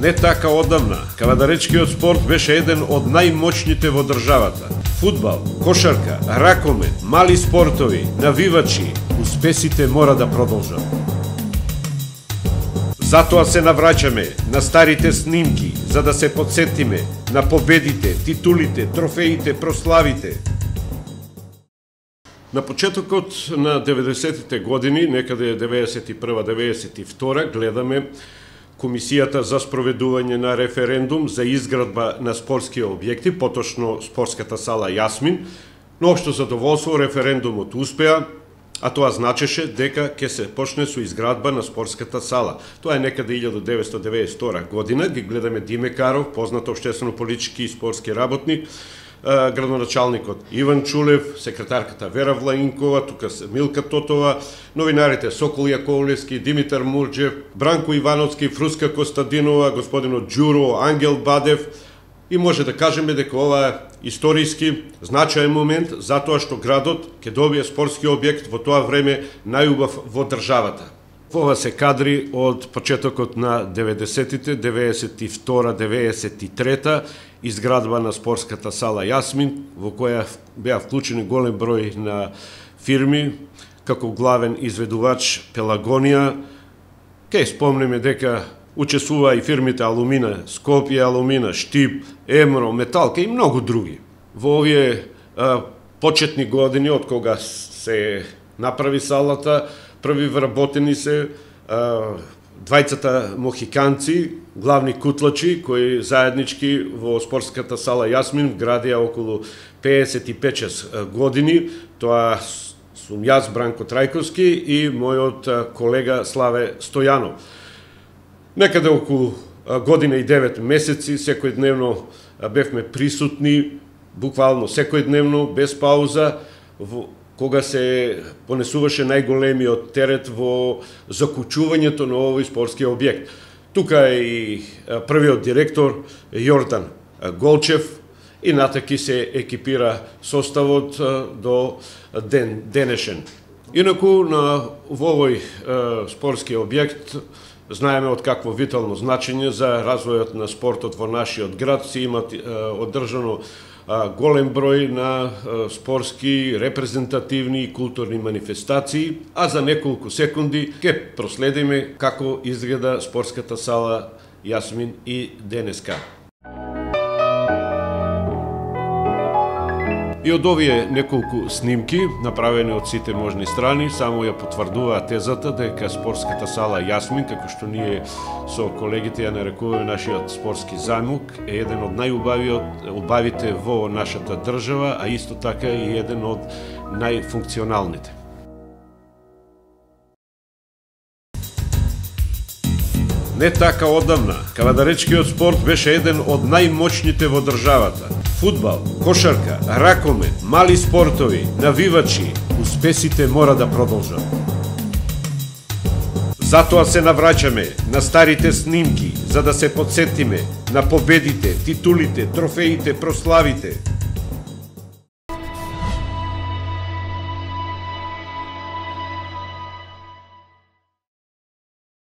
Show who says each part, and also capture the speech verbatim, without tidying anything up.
Speaker 1: Не така одамна, кавадаречкиот спорт беше еден од најмоćните во државата. Фудбал, кошарка, ракомет, мали спортови, навивачи, успесите мора да продолжат. Затоа се навраќаме на старите снимки, за да се подсетиме на победите, титулите, трофеите, прославите. На почетокот на деветдесетите години, некаде деветдесет и прва деветдесет и втора, гледаме Комисијата за спроведување на референдум за изградба на спортски објекти, поточно спортската сала Јасмин. Но општо задоволство референдумот успеа, а тоа значеше дека ќе се почне со изградба на спортската сала. Тоа е некаде илјада деветстотини деветдесет и втора година. Ги гледаме Диме Каров, познат општествено-политички и спортски работник, градоначалникот Иван Чулев, секретарката Вера Влаинкова, тука се Милка Тотова, новинарите Сокол Јаковлевски, Димитар Мурџев, Бранко Ивановски, Фруска Костадинова, господинот Ѓуро, Ангел Бадев. И може да кажеме дека ова е историски значаен момент, затоа што градот ќе добие спортски објект во тоа време најубав во државата. Ова се кадри од почетокот на деветдесетите, деветдесет и втора деветдесет и трета, изградба на спортската сала Јасмин, во која беа вклучени голем број на фирми, како главен изведувач Пелагонија. Ке спомнеме дека учествува и фирмите Алумина, Скопје Алумина, Штип, Емро, Металка и многу други. Во овие а, почетни години, од кога се направи салата, први вработени се а, двајцата мохиканци, главни кутлачи, кои заеднички во спортската сала Јасмин градија околу пеесет и пет години. Тоа сум јас, Бранко Трајковски, и мојот колега Славе Стојанов. Некаде околу година и девет месеци, секојдневно бевме присутни, буквално секојдневно, без пауза, во кога се понесуваше најголемиот терет во закучувањето на овој спортски објект. Тука е и првиот директор Јордан Голчев и натаки се екипира составот до ден денешен. Инаку на во овој спортски објект знаеме од какво витално значење за развојот на спортот во нашиот град се имат одржано голем број на спортски, репрезентативни и културни манифестации, а за неколку секунди ќе проследиме како изгледа спортската сала Јасмин и денеска. И од овие неколку снимки, направени од сите можни страни, само ја потврдуваат тезата дека спортската сала Јасмин, како што ние со колегите ја нарекуваме нашиот спортски замок, е еден од најубавите во нашата држава, а исто така и еден од најфункционалните. Не така одамна, кавадаречкиот спорт беше еден од најмоćните во државата. Фудбал, кошарка, ракомет, мали спортови, навивачи, успесите мора да продолжат. Затоа се навраќаме на старите снимки, за да се подсетиме на победите, титулите, трофеите, прославите.